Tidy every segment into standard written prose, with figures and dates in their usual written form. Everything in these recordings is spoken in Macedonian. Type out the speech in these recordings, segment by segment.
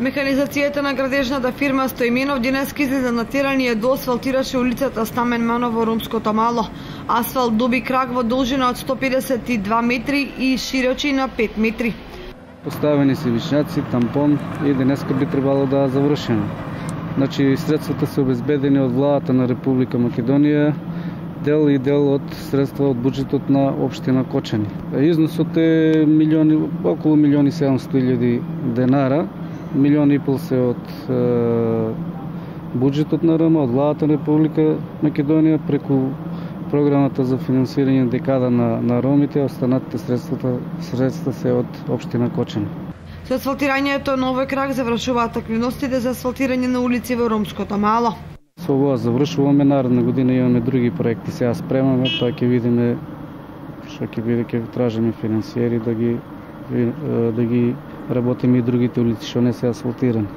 Механизацијата на градежната фирма Стоименов денеска излезе на терен и доасфалтираше улицата Стамен Манов во Ромското мало. Асфалт доби крак во должина од 152 метри и широчина 5 метри. Поставени се вишњаци, тампон и денеска би требало да завршено. Значи, средствата се обезбедени од владата на Република Македонија, дел и дел од средства од буџетот на општина Кочани. Износот е околу 1.700.000 денара, 1,5 милиони се од буџетот на РМ, од владата на Република Македонија, преку програмата за финансирање декада на ромите, останатите средства се од општина Кочани. Со асфалтирањето на овој крак завршуваат активностите за асфалтирање на улици во Ромското мало. Со ова завршуваме, наредна година имаме други проекти, сега спремаме, тоа ќе видиме што ќе биде, ќе тражиме финансиери да ги работиме и другите улици што не се асфалтирани.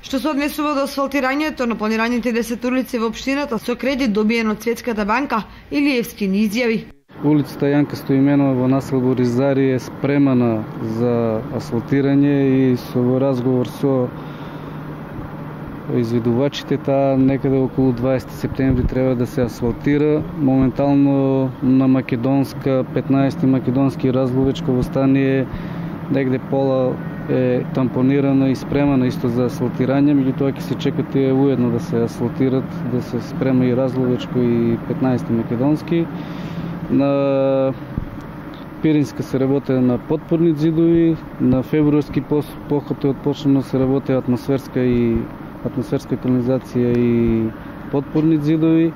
Што се однесува до асфалтирањето на планираните 10 улици во општината со кредит добиен од Светската банка, Илиевски ни изјави: улицата Јанка Стоименова во населбо Ризари е спремана за асфалтирање и со разговор со изведувачите, таа некаде околу 20 септември треба да се асфалтира. Моментално на македонска 15 македонски Разловечково стание негде пола е тампонирана и спремана исто за асфалтирање, меѓутоа ќе се чекат и уедно да се асфалтират, да се спрема и Разловечко и 15 македонски. На Пиринска се работи на подпорни зидови, на февруарски поход е отпочнано да се работи атмосферска канализација и подпорни зидови.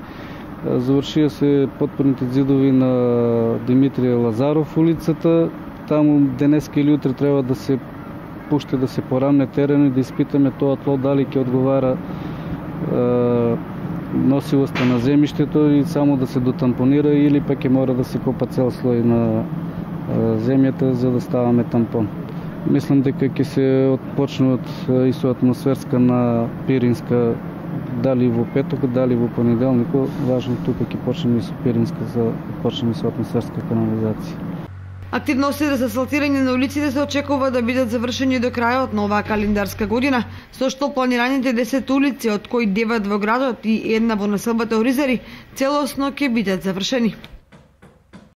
Завршија се подпорните зидови на Димитрија Лазаров улицата. Таму денеска или утре треба да се пушти да се порамне терен и да испитаме тоа тло дали ќе одговара носилоста на земјиштето и само да се дотампонира или пак ќе мора да се копа цел слој на земјата за да ставаме тампон. Мислам дека ќе се отпочнат и со атмосферска на Пиринска дали во петок, дали во понеделник. Важно тука ќе почнеме со Пиринска за почнеме со атмосферска канализација. Активностите за асфалтирање на улиците се очекува да бидат завршени до крајот на оваа календарска година, со што планираните 10 улици, од кои 9 во градот и една во населбата Оризари, целосно ќе бидат завршени.